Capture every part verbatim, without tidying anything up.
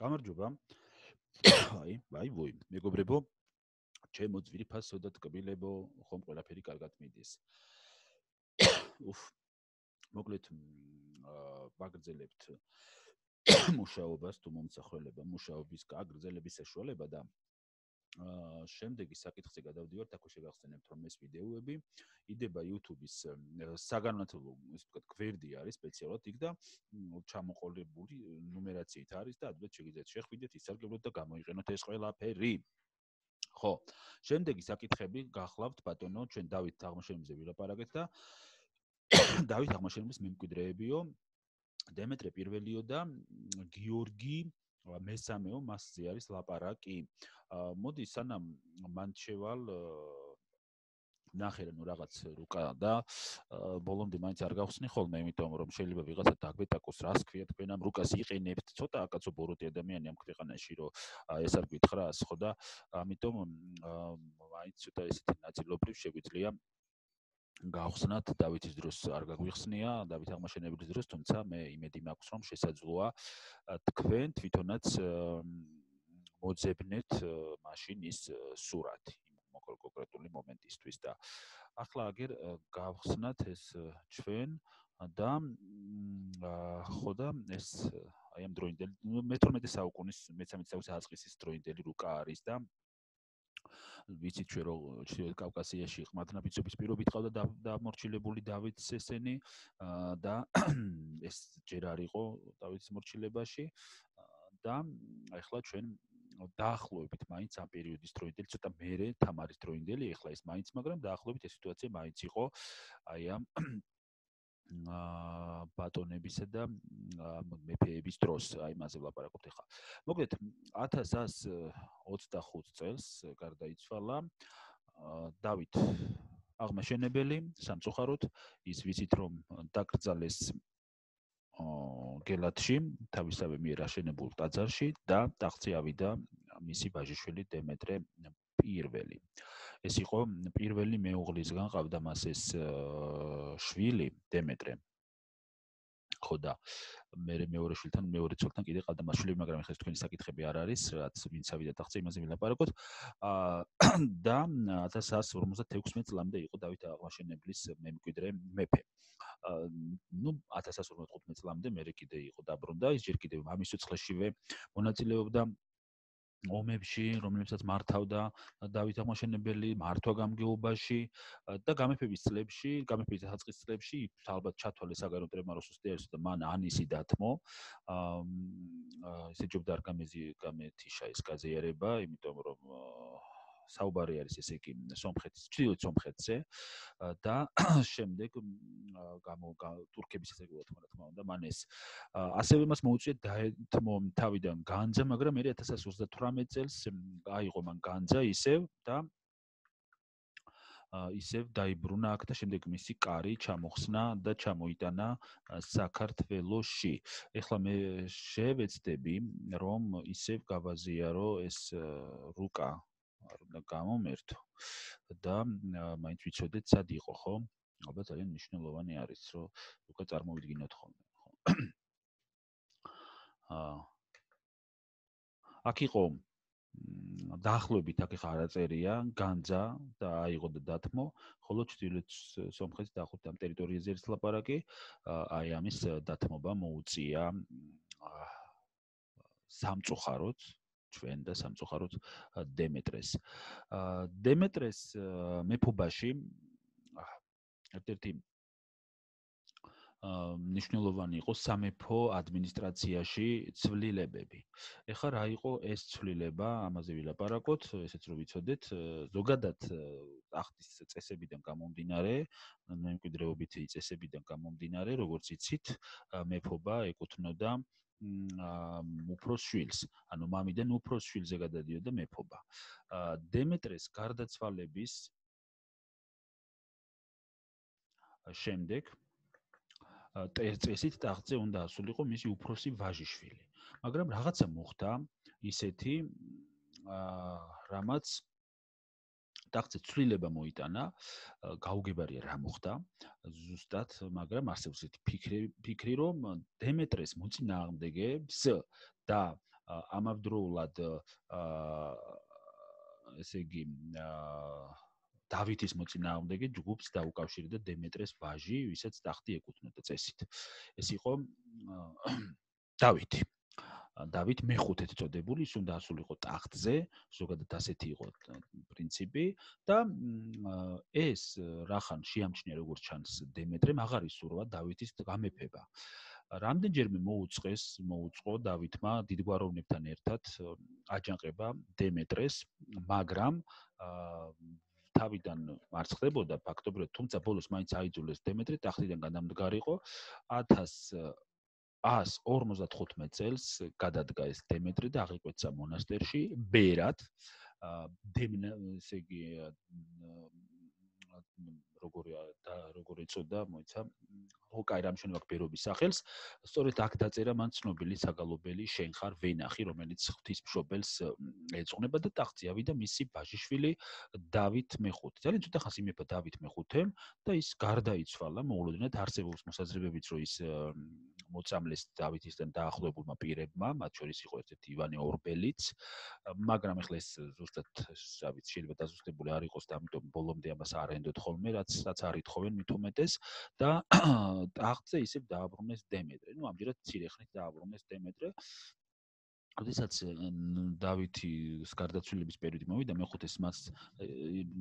გამარჯობა. აი, აი ვოი, მეგობრებო, ჩემო ძვირფასო და ტკბილებო, ხომ ყველაფერი კარგად მიდის. უფ, მოკლედ ვაგრძელებთ მუშაობას თუ მომსახველება, მუშაობის გაგრძელების საშუალება და აა შემდეგი საკითხზე გადავდივართ, აქ შეგახსენებთ, რომ ეს ვიდეოები იდება YouTube-ის საგანმანათლებლო, ისე ვთქვათ, გვერდი არის სპეციალურად იქ და ჩამოყოლებული ნუმერაციით არის და ადრე შეგიძლიათ შეხვიდეთ, ისარგებლოთ და გამოიყენოთ ეს ყველაფერი. ხო, შემდეგი საკითხები გახლავთ ბატონო, ჩვენ დავით აღმაშენებელზე ვილაპარაკეთ და დავით აღმაშენებლის მემკვიდრეებიო, დემეტრე პირველიო და გიორგი მესამეო მასზე არის ლაპარაკი. მოდი სანამ მან შევალ ნახე ნუ რაღაც რუკა და ბოლომდე მაინც არ გავხსნი ხოლმე, იმიტომ რომ შეიძლება ვიღაცა დაგვეტაკოს, რას ქვია თქვენ ამ რუკას იყენებთ. ცოტა აკაცო ბოროტი ადამიანი ამ ქვეყანაში, რომ ეს არ გითხრას, ხო და ამიტომ მაინც ცოტა ესეთი ნაწილობრივ შეგვიძლია გავხსნათ დავითის დროს არ გაგვიხსნია, დავით აღმაშენებლის დროს, თუმცა მე იმედი მაქვს, რომ შესაძლოა თქვენ თვითონაც მოძებნეთ მაშინ ის სურათი იმ კონკრეტული მომენტისთვის და ახლა აგერ გავხსნათ ეს ჩვენ და ხო და ეს აი ამ დროინდელი მეთორმეტე საუკუნის მესამე საუკუნის აწყის დროინდელი რუკა არის და ვიცით ჩვენ რომ ჩრდილოეთ კავკასიაში ყმადნაბიჯების პირობით ყავდა დამორჩილებული დავითს ესენი და ეს ჯერ არ იყო დავითის მორჩილებაში და ახლა ჩვენ დაახლოებით მაინც ამ პერიოდის დროინდელი ცოტა მერე თამარის დროინდელი ახლა ეს მაინც მაგრამ დაახლოებით ეს სიტუაცია მაინც იყო აი ამ აა ბატონებისა და მეფეების დროს, აი მასზე ვლაპარაკობთ ახლა. მოკლედ ათას ათას ოცდახუთ წელს გარდაიცვალა დავით აღმაშენებელი სამწუხაროდ, ის ვიცით რომ დაკრძალეს გელათში, თავისავე მიერ აშენებულ ტაძარში და ტახტზე ავიდა მისი ვაჟიშვილი დემეტრე პირველი. ეს იყო პირველი მეუღლისგან ყავდა მას ეს შვილი დემეტრე. ხო და მე მეორე შვილთან, მეორე ცოლთან კიდე ყავდა მას შვილი, მაგრამ ეხლა თქვენი საკითხები არ არის, რაც ვინც ავიდა ტახტზე, იმაზე ვილაპარაკოთ. და ათას ათას ორმოცდათექვსმეტ წლამდე იყო დავით აღმაშენებლის მემკვიდრე მეფე. ну ათას ათას ორმოცდათხუთმეტ წლამდე მე კიდე იყო დაბრუნდა, ის ჯერ კიდევ მამის სიცხლეშივე მონაწილეობდა ომებში, რომლებსაც მართავდა დავით აღმაშენებელი მართვა-გამგეობაში და გამეფების წლებში, გამეფების დასაწყის წლებში ალბათ ჩათვალეს საგარეო ტრემაროს უსტიარესო და მან ანისი დათმო. აა ესე ჯობდა არ გამეთიშა ეს გაზიარება, იმიტომ რომ საუბარი არის ესე იგი სომხეთის, ჩრდილოეთ სომხეთზე და შემდეგ გამო თურქების ესეგულა თქმა უნდა, მან ეს ასევე მას მოუწია დაეთმო თავიდან განძა, მაგრამ მე ათას ათას ოცდათვრამეტ წელს აიღო მან განძა ისევ და ისევ დაიბრუნა აქ და შემდეგ მისი კარი ჩამოხსნა და ჩამოიტანა საქართველოში. ეხლა მე შევეცდები, რომ ისევ გავაზიარო ეს რუკა არ უნდა გამომერთო და მაინც ვიცოდეთ სად იყო, ხო? ალბათ ძალიან მნიშვნელოვანი არის, რომ რუკა წარმოვიდგინოთ ხოლმე, ხო? აა აქ იყო დაახლოებით აქ ხა არაწერია განძა და აიღო და დათმო, ხოლო ჩრდილოეთ სომხეთის დაახლოებით ამ ტერიტორიაზე არის ლაპარაკი, აი ამის დათმობა მოუწია სამწუხაროდ ჩვენ და სამწუხაროდ დემეტრეს. დემეტრეს მეფობაში ერთ-ერთი ნიშნულოვანი იყო სამეფო ადმინისტრაციაში ცვლილებები. ეხლა რა იყო ეს ცვლილება, ამაზე ვილაპარაკოთ, ესეც რომ ვიცოდეთ, ზოგადად ტახტის წესებიდან გამომდინარე, მემკვიდრეობითი წესებიდან გამომდინარე, როგორც იცით, მეფობა ეკუთვნოდა უფროს შვილს, ანუ მამიდან უფროს შვილზე გადადიოდა მეფობა. დემეტრეს გარდაცვალების შემდეგ წესით ტახტზე უნდა ასულიყო მისი უფროსი ვაჟიშვილი. მაგრამ რაღაცა მოხდა ისეთი, რამაც ტახტზე ცვლილება მოიტანა, გაუგებარია რა მოხდა ზუსტად, მაგრამ არსებობს ესეთი ფიქრი, ფიქრი, რომ დემეტრეს მოწინააღმდეგეებს და ამავდროულად ესე იგი დავითის მოწინააღმდეგე ჯგუფს დაუკავშირდა დემეტრეს ვაჟი, ვისაც ტახტი ეკუთვნოდა წესით. ეს იყო დავითი. დავით მეხუთედ წოდებული, ის უნდა ასულიყო ტახტზე, ზოგადად ასეთი იყო პრინციპი და ეს რახან შეამჩნია როგორც ჩანს დემეტრემ აღარ ისურვა დავითის გამეფება. რამდენჯერმე მოუწყეს, მოუწყო დავითმა დიდგვაროვნებთან ერთად აჯანყება დემეტრეს, მაგრამ თავიდან მარცხდებოდა ფაქტობრივად, თუმცა ბოლოს მაინც აიძულეს დემეტრი ტახტიდან გადამდგარიყო. ათას ორმოცდათხუთმეტ წელს გადადგა ეს დემეტრი და აღიკვეცა მონასტერში ბერად. დემნა, ესე იგი როგორია და როგორ ეწოდა, მოიცა ოკაი რამჩვენებაქ ბერობის სახელს. სწორედ აქ დაწერა მან ცნობილი საგალობელი შენ ხარ ვენახი, რომელიც ღვთისმშობელს ეძღვნება და ტახტზე ავიდა მისი ბაჟიშვილი დავით მეხუთე. ძალიან ცოტა ხანს იმეფა დავით მეხუთემ და ის გარდაიცვალა, მოულოდნელად არსებობს მოსაზრებებიც, რომ ის მოწამლეს დავითისთან დაახლოებულმა პირებმა, მათ შორის იყო ერთ-ერთი ივანე ორბელიც, მაგრამ ეხლა ეს ზუსტად რა ვიცი, შეიძლება დაზუსტებული არ იყოს და ამიტომ ბოლომდე ამას არ ენდოთ ხოლმე, რაც რაც არ ითხოვენ მით უმეტეს და ტახტზე ისევ დააბრუნეს დემეტრე. ნუ ამჯერად მცირე ხნით დააბრუნეს დემეტრე. როდესაც დავითის გარდაცვალების პერიოდი მოვიდა, მეხუთეს მას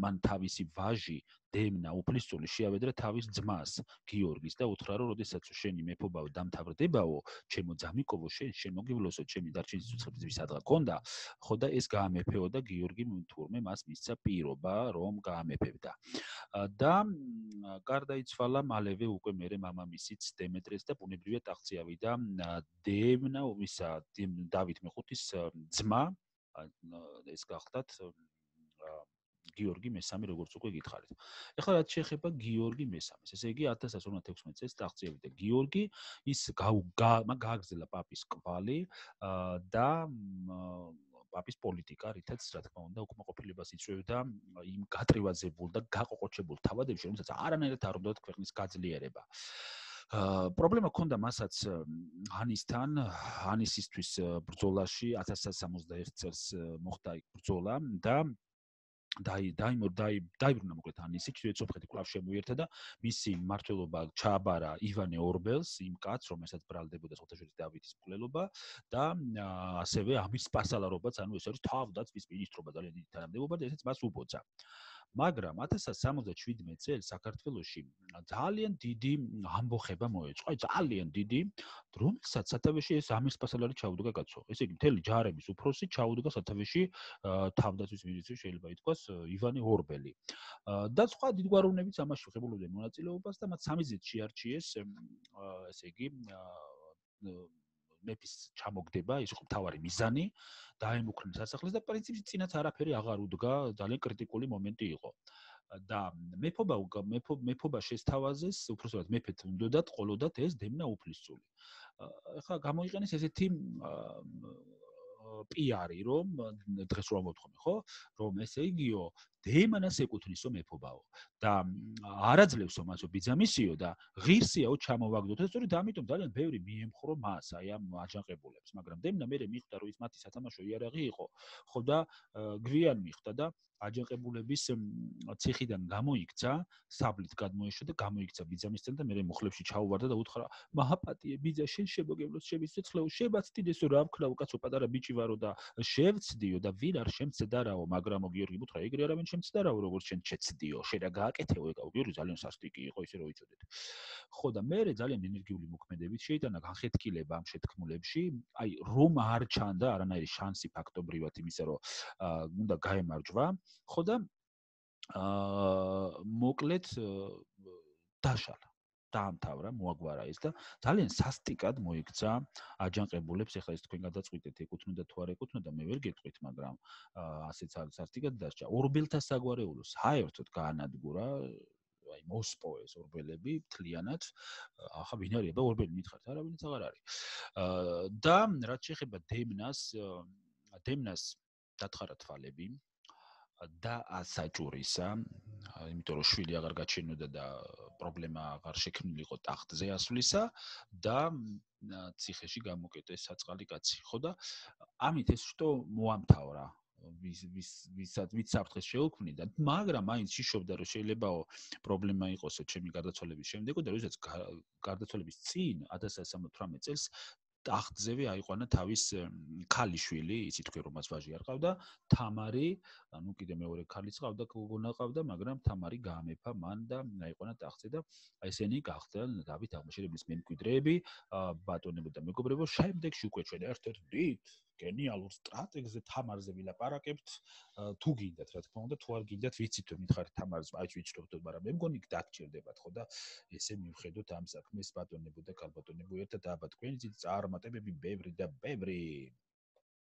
მან თავისი ვაჟი დემნა უფლისწული შეავედრა თავის ძმას გიორგის და უთხრა, რომ როდესაც შენი მეფობაო დამთავრდებაო, ჩემო ძამიკოვო, შენ შენ მოგივლოსო, ჩემი დარჩენის უცხოების ვისადღა გქონდა, ხო და ეს გაამეფეო და გიორგი თურმე მას მისცა პირობა, რომ გაამეფებდა. და გარდაიცვალა მალევე უკვე მერე მამამისიც დემეტრეს და ბუნებრივია ტახტზე ავიდა დემნა ომისა დავით მეხუთის ძმა, ეს გახდათ გიორგი მესამე, როგორც უკვე გითხარით. ეხლა რაც შეეხება გიორგი მესამეს, ესე იგი ათას ორმოცდათექვსმეტ წელს ტახტზე ავიდა გიორგი, ის გააგრძელა პაპის კვალი და პაპის პოლიტიკა, რითაც რა თქმა უნდა უკმაყოფილებას იწვევდა იმ გატრევაზებულ და გაყოყოჩებულ თავადებში, რომელსაც არანაირად არ უნდათ ქვეყნის გაძლიერება. პრობლემა ჰქონდა მასაც ანისთან, ანისისთვის ბრძოლაში ათას ათას სამოცდაერთ წელს მოხდა ბრძოლა და დაი დაიმორ დაი დაიბრუნა მოკლედ ანისი, ჩრდილოეთ სომხეთი კვლავ შემოიერთა და მისი მმართველობა ჩააბარა ივანე ორბელს, იმ კაცს, რომელსაც ბრალდებოდა სოხთაშვილის დავითის მკვლელობა და ასევე ამის სპასალარობაც, ანუ ეს არის თავდაცვის მინისტრობა, ძალიან დიდი თანამდებობა და ესეც მას უბოძა. მაგრამ ათას ათას სამოცდაშვიდმეტ წელს საქართველოში ძალიან დიდი ამბოხება მოეწყო, აი ძალიან დიდი, რომელსაც სათავეში ეს ამის სპასალარი ჩაუდგა კაცო. ესე იგი მთელი ჯარების უფროსი ჩაუდგა სათავეში თავდაცვის მინისტრი შეიძლება ითქვას ივანე ორბელი. და სხვა დიდგვაროვნებიც ამაში ღებულობდნენ მონაწილეობას და მათ სამიზეთ შეარჩიეს, ესე იგი მეფის ჩამოგდება, ის იყო მთავარი მიზანი, დაემუქრნენ სასახლეს და პრინციპში წინაც არაფერი აღარ უდგა, ძალიან კრიტიკული მომენტი იყო. და მეფობა მეფობა შესთავაზეს, უბრალოდ მეფეთ უნდათ ყოლოდათ ეს დემნა უფლისწული. ეხლა გამოიყენეს ესეთი პიარი, რომ დღეს რომ მოთხოვე, ხო? რომ ესე იგიო, დემანას ეკუთვნისო მეფობაო და არაძლევსო მასო ბიძამისიო და ღირსიაო ჩამოვაგდოთ. სწორედ ამიტომ ძალიან ბევრი მიემხრო მას, აი ამ აჯანყებულებს, მაგრამ დემნა მერე მიხვდა, რომ ის მათი სათამაშო იარაღი იყო, ხო და გვიან მიხვდა და აჯანყებულების ციხიდან გამოიქცა, საბლით გადმოეშვა და გამოიქცა ბიძამისთან და მერე მუხლებში ჩაუვარდა და უთხრა: "მაჰაპატიე ბიძა, შენ შემოგევლოს ჩემი სიცოცხლეო, შევაცდიდესო რა ვქნაო კაცო, პატარა ბიჭი ვარო და შევცდიო და ვინ არ შემცდარაო, მაგრამო გიორგი უთხრა: "ეგრე არავინ შემცდარაო, როგორც შენ შეცდიო, შენ რა გააკეთეო ეკაო." გიორგი ძალიან სასტიკი იყო, ისე რომ იცოდეთ. ხო და მერე ძალიან ენერგიული მოქმედებით შეიტანა განხეთქილება ამ შეთქმულებში, აი რომ არ ჩანდა არანაირი შანსი ფაქტობრივად იმისა, რომ უნდა გაემარჯვა. ხო და აა მოკლედ დაშალა. დაამთავრა, მოაგვარა ის და ძალიან სასტიკად მოიქცა აჯანყებულებს, ეხლა ეს თქვენ გადაწყვიტეთ, ეკუთვნოდა თუ არ ეკუთვნოდა, მე ვერ გეტყვით, მაგრამ ასეც სასტიკად დასჭა. ორბელთა საგვარეულო საერთოდ გაანადგურა, აი მოსპოეს ორბელები მთლიანად. ახლა ვინ არის და ორბელი მითხართ, არავინიც აღარ არის. და რაც შეეხება დემნას, დემნას დათხარა თვალები. და საჭურისა, იმიტომ რომ შვილი აღარ გაჩენოდა და პრობლემა აღარ შექმნილიყო ტახტზე ასვლისა და ციხეში გამოკეტეს საწყალი კაცი. ხო და ამით ეს შტო მოამთავრა ვის ვის ვისაც ვიც საფრთხეს შეუქმნიდა, მაგრამ მაინც იშობდა რომ შეიძლებაო პრობლემა იყოსო ჩემი გარდაცვალების შემდეგ და როდესაც გარდაცვალების წინ ათას ცხრაასა სამოცდათვრამეტ წელს ტახტზევე აიყვანა თავის ქალიშვილი, იცით თქვენ რომ მას ვაჟი არ ყავდა, თამარი, ანუ კიდე მეორე ქალიც ყავდა, გოგონა ყავდა, მაგრამ თამარი გაამეფა მან და აიყვანა ტახტზე და ესენი გახდნენ დავით აღმაშენებლის მემკვიდრეები, ბატონებო და მეგობრებო, შემდეგში უკვე ჩვენ ერთ-ერთ დიდ გენიალურ სტრატეგზე თამარზე ვილაპარაკებთ, თუ გინდათ, რა თქმა უნდა, თუ არ გინდათ, ვიცით რომ მითხარით თამარს, აი ვიცნობთ, მაგრამ მე მგონი დაგჭირდებათ, ხო და ესე მივხედოთ ამ საქმეს ბატონებო და ქალბატონებო ერთად აბა თქვენი წარუმატებები ბევრი და ბევრი